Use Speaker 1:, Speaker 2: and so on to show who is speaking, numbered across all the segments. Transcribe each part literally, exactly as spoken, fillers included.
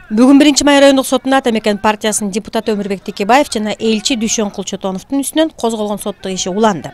Speaker 1: Бүгүн биринчи май райондук сотунда Ата Мекен партиясынын депутаты Өмүрбек Текебаев жана элчи Дүйшөнкул Чотоновдун үстүнөн козголгон соттук иши уланды.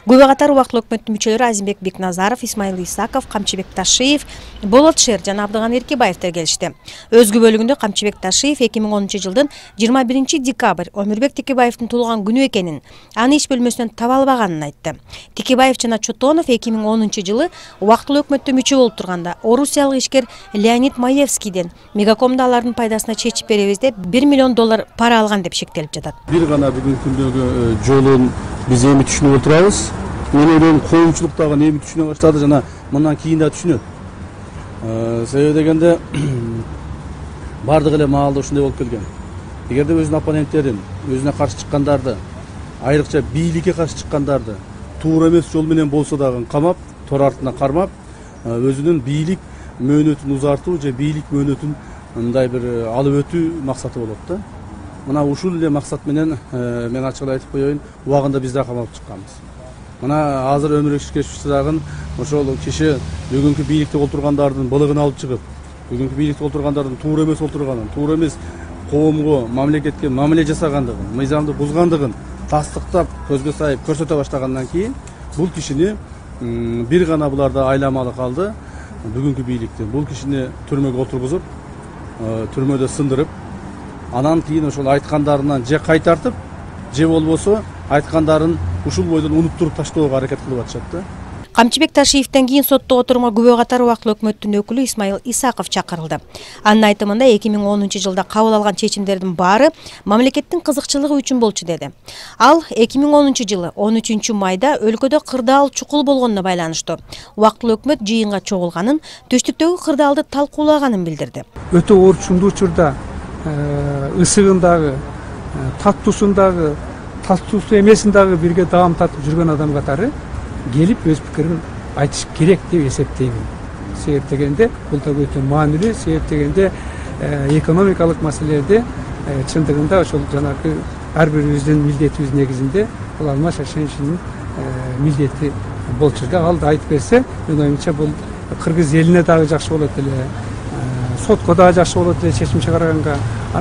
Speaker 1: Күбө катары убактылуу өкмөттүн мүчөлөрү Азимбек Бекназаров, Исмаил Исаков, Камчыбек Ташиев, Болот Шер жана Абдыган Эркебаевдер келишти. Өз күбөлүгүндө Камчыбек Ташиев эки миң онунчу жылдын жыйырма биринчи декабрь Өмүрбек Текебаевдин туулган күнү экенин, аны иш бөлмөсүнөн таба албаганын айтты. Текебаев жана Чотонов эки миң онунчу жылы убактылуу өкмөттө мүчө болуп турганда орусиялык ишкер Леонид Маевскийден Мегакомдо алардын пайдасына чечип беребиз деп бир миллион доллар пара алган деп шектелип жатат.
Speaker 2: Бир гана бүгүнкү күндөгү жолун биз эми түшүнүп отурабыз. Мен ойлойм коомчулук дагы эми түшүнө баштады жана мындан кийин да түшүнөт. Себеби дегенде бардык эле маалда ушундай болуп келген. Эгерде өзүнүн оппоненттерин, өзүнө каршы чыккандарды, айрыкча бийликке каршы чыккандарды туура эмес жол менен болсо дагы камап, тор артына кармап, өзүнүн бийлик мөөнөтүн узартуу же бийлик мөөнөтүн мындай бир алып өтүү максаты болот да. Мына ушул эле максат менен мен ачык эле айтып коеюн, убагында биз да камалып чыкканбыз. Мына азыр Өмүрбек Текебаев ошол киши бүгүнкү бийликте отургандардын былыгын алып чыгып, бүгүнкү бийликте отургандардын туура эмес отурганын, туура эмес коомго, мамлекетке мамиле жасагандыгын, мыйзамды бузгандыгын тастыктап, көзгө сайып көрсөтө баштагандан кийин бул кишини бир гана буларда айламалы калды. Бүгүнкү бийликти бул кишини түрмөгө отургузуп, түрмөдө сындырып, анан кийин ошол айткандарынан же кайтартып, же болбосо айткандарын ушул бойдон унуттуруп таштоого аракет кылып атышат да.
Speaker 1: Камчыбек Ташиевден кийин соттук отурумга күбө катары убактылуу өкмөттүн өкүлү Исмаил Исаков чакырылды. Анын айтымында эки миң онунчу жылда кабыл алган чечимдердин баары мамлекеттин кызыкчылыгы үчүн болчу деди. Ал эки миң онунчу жылы он үчүнчү майда өлкөдө кырдаал чукул болгонуна байланыштуу убактылуу өкмөт жыйынга чогулганын, түштүктөгү кырдаалды талкуулаганын билдирди.
Speaker 3: Өтө орчундуу учурда ысыгындагы, таттуусундагы, таттуусу эмесиндагы бирге даам татып жүргөн адам катары келип өз пикирин айтыш керек деп эсептеймин. Себеп дегенде бул да өтө маанилүү, себеп дегенде экономикалык маселелерде чындыгында ошол жанагы ар бирибиздин милдетибиз негизинде бул Алмаз Шайшениевдин милдети болчу да. Ал да айтып берсе, мен оюмча бул кыргыз элине дагы жакшы болот эле, сотко дагы жакшы болот эле чечим чыгарганга.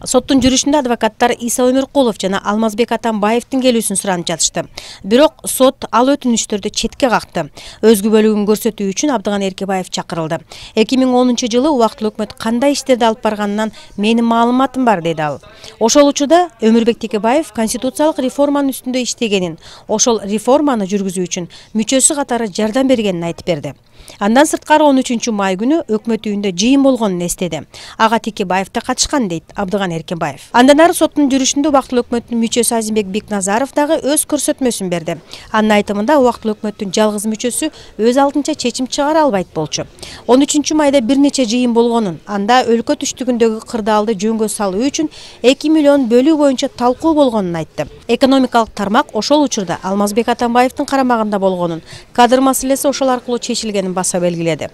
Speaker 1: Соттун жүрүшүндө адвокаттар Иса Өмүркулов жана Алмазбек Атамбаевдин келүүсүн суранып жатышты. Бирок сот ал өтүнүштөрдү четке какты. Өз күбөлүгүн көрсөтүү үчүн Абдыган Эркебаев чакырылды. эки миң онунчу жылы убактылуу өкмөт кандай иштерди алып барганынан менин маалыматым бар, деди ал. Ошол учурда Өмүрбек Текебаев конституциялык реформанын үстүндө иштегенин, ошол реформаны жүргүзүү үчүн мүчөсү катары жардам бергенин айтып берди. Андан сырткары он үчүнчү май күнү өкмөт үйүндө жыйын болгонун эстеди. Ага Текебаев да катышкан, дейт Абдыган Эркебаев. Андан ары соттун жүрүшүндө убактылуу өкмөттүн мүчөсү Азимбек Бекназаров дагы өз көрсөтмөсүн берди. Анын айтымында убактылуу өкмөттүн жалгыз мүчөсү өз алдынча чечим чыгара албайт болчу. он үчүнчү майда бир нече жыйын болгонун, анда өлкө түштүгүндөгү кырдаалды жөнгө салуу үчүн эки миллион бөлүү боюнча талкуу болгонун айтты. Экономикалык тармак ошол учурда Алмазбек Атамбаевдин карамагында болгонун, кадр маселеси ошол аркылуу чечилгенин баса белгиледи.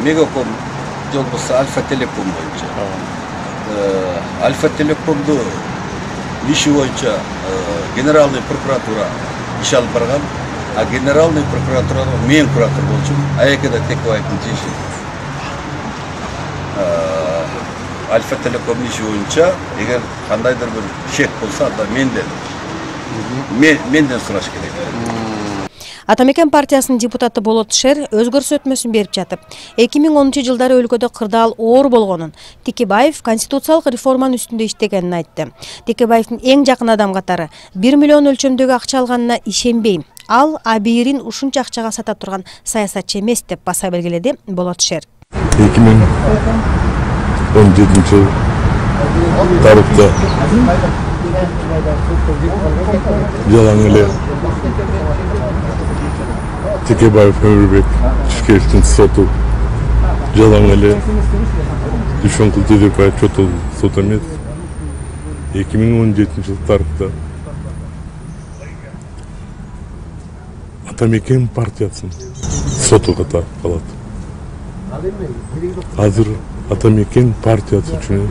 Speaker 4: Мегаком же болбосо Альфа Телеком боюнча. Альфа Телекомду иши боюнча генеральный прокуратура иш алып барган, а генеральный прокуратурада мен куратор болчумун. Аякеда Текебаевдин иши. Альфа Телеком иши боюнча эгер кандайдыр бир шек болсо, анда менден менден сураш керек.
Speaker 1: Ата Мекен партиясынын депутаты Болот Шер өз көрсөтмөсүн берип жатып, эки миң онунчу жылдары өлкөдө кырдаал оор болгонун, Текебаев конституциялык реформанын үстүндө иштегенин айтты. Текебаевдин эң жакын адам катары бир миллион өлчөмдөгү акча алганына ишенбейм. Ал абийирин ушунча акчага сата турган саясатчы эмес деп баса белгиледи Болот Шер.
Speaker 5: эки миң он жетинчи жыл тарыхта жалаң эле Текебаев Өмүрбек Текебаевдин соту жалаң эле Дүйшөнкул Текебаев Чотонов сот эмес. эки миң он жетинчи жыл тарыхта Ата Мекен партиясынын соту катары калат. Азыр Ата Мекен партиясы үчүн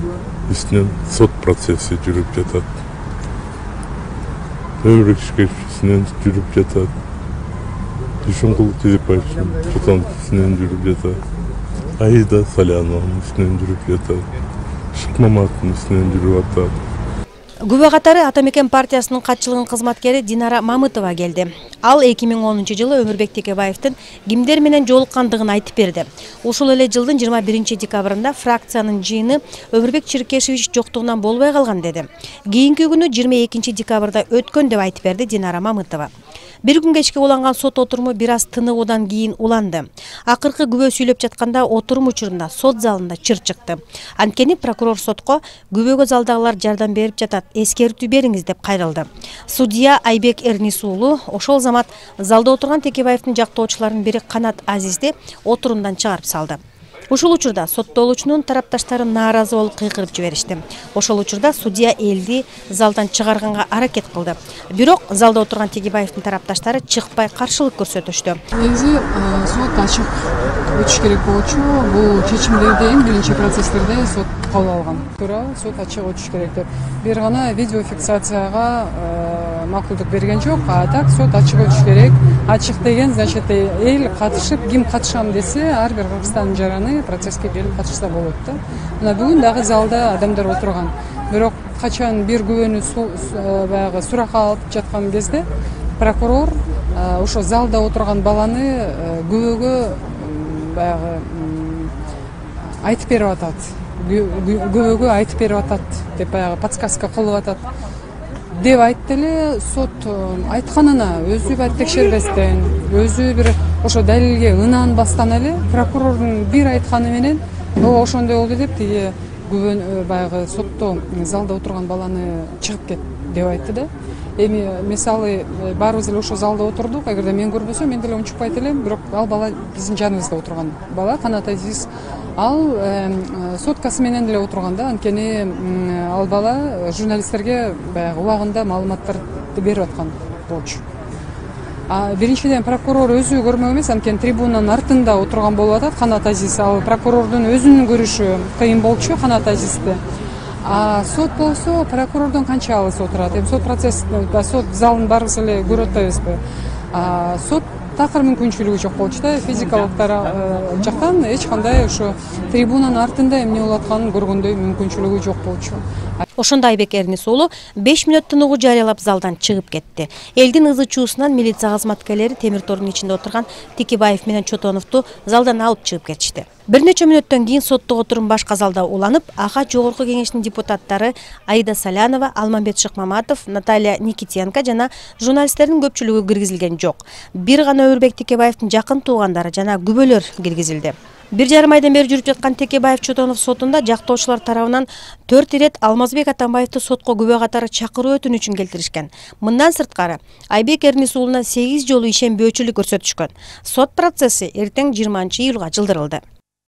Speaker 5: үстүнөн сот процесси жүрүп жатат. Өмүрбек Текебаевдин жүрүп жатат. Дүйшөнкул Текебаевдин Чотонов үстүнөн жүрүп жатат. Аида Салянованын үстүнөн жүрүп жатат. Шыкмаматтын үстүнөн жүрүп атат.
Speaker 1: Күбө катары Ата Мекен партиясынын катчылыгынын кызматкери Динара Мамытова келди. Ал эки миң онунчу жылы Өмүрбек Текебаевдин кимдер менен жолуккандыгын айтып берди. Ушул эле жылдын жыйырма биринчи декабрында фракциянын жыйыны Өмүрбек Черкешевич жоктугунан болбой калган деди. Кийинки күнү жыйырма экинчи декабрда өткөн деп айтып берди Динара Мамытова. Бир күн кечке уланган сот отуруму бир аз тыныгуудан кийин уланды. Акыркы күбө сүйлөп жатканда отурум учурунда сот залында чыр чыкты. Анткени прокурор сотко күбөгө залдагылар жардам берип жатат, эскертүү бериңиз деп кайрылды. Судья Айбек Эрнис уулу ошол замат залда отурган Текебаевдин жактоочуларынын бири Канат Азизди отурумдан чыгарып салды. Ушул учурда соттолуучунун тарапташтары нааразы болуп кыйкырып жиберишти. Ошол учурда судья элди залдан чыгарганга аракет кылды. Бирок залда отурган Текебаевдин тарапташтары чыкпай каршылык көрсөтүштү.
Speaker 6: Негизи сот ачык өтүш керек болчу. Бул чечимдерди эң биринчи процесстерде сот кабыл алган. Туура сот ачык өтүш керек деп. Бир гана видеофиксацияга макулдук берген жок, а так сот ачык өтүш керек. Ачык деген значит эл катышып, ким катышам десе, ар бир Кыргызстандын жараны процесске келип катышса болот да. Мына бүгүн дагы залда адамдар отурган. Бирок качан бир күбөнү баягы суракка алып жаткан кезде прокурор ошо залда отурган баланы күбөгө баягы айтып берип атат. Күбөгө айтып берип атат деп баягы подсказка кылып атат деп айтты эле. Сот айтканына өзү бар текшербестен, өзү бир ошо далилге ынанбастан эле прокурордун бир айтканы менен о ошондой болду деп тиги күбө баягы сотто залда отурган баланы чыгып кет деп айтты да. Эми мисалы баарыбыз эле ошо залда отурдук. Эгерде мен көрбөсөм мен деле унчукпайт элем, бирок ал бала биздин жаныбызда отурган бала, Канат Азиз. Ал соткасы менен деле отурган да. Анткени ал бала журналисттерге баягы убагында маалыматтарды берип аткан болчу. А биринчиден прокурор өзү көрмөк эмес, анткени трибунанын артында отурган болуп атат Канат Азиз. Ал прокурордун өзүнүн көрүшү кыйын болчу Канат Азизди. А сот болсо прокурордон канча алыс отурат. Эми сот процесс, сот залын баарыбыз эле көрүп атпайбызбы? А сот такыр мүмкүнчүлүгү жок болчу да. Физикалыктар жактан эч кандай ошо трибунанын артында эмне болуп атканын көргөндөй мүмкүнчүлүгү жок болчу.
Speaker 1: Ошондо Айбек Эрнис уулу беш мүнөт тыныгуу жарыялап залдан чыгып кетти. Элдин ызы чуусунан милиция кызматкерлери темир тордун ичинде отурган Текебаев менен Чотоновду залдан алып чыгып кетишти. Бир нече мүнөттөн кийин соттук отурум башка залда уланып, ага Жогорку Кеңештин депутаттары Аида Салянова, Алмамбет Шыкмаматов, Наталья Никитенко жана журналисттердин көпчүлүгү киргизилген жок. Бир гана Өмүрбек Текебаевдин жакын туугандары жана күбөлөр киргизилди. Бир жарым айдан бери жүрүп жаткан Текебаев Чотонов сотунда жактоочулар тарабынан төрт ирет Алмазбек Атамбаевди сотко күбө катары чакыруу өтүнүчүн келтиришкен. Мындан сырткары Айбек Эрнис уулуна сегиз жолу ишенбөөчүлүк көрсөтүшкөн. Сот процесси эртең жыйырманчы июлга жылдырылды.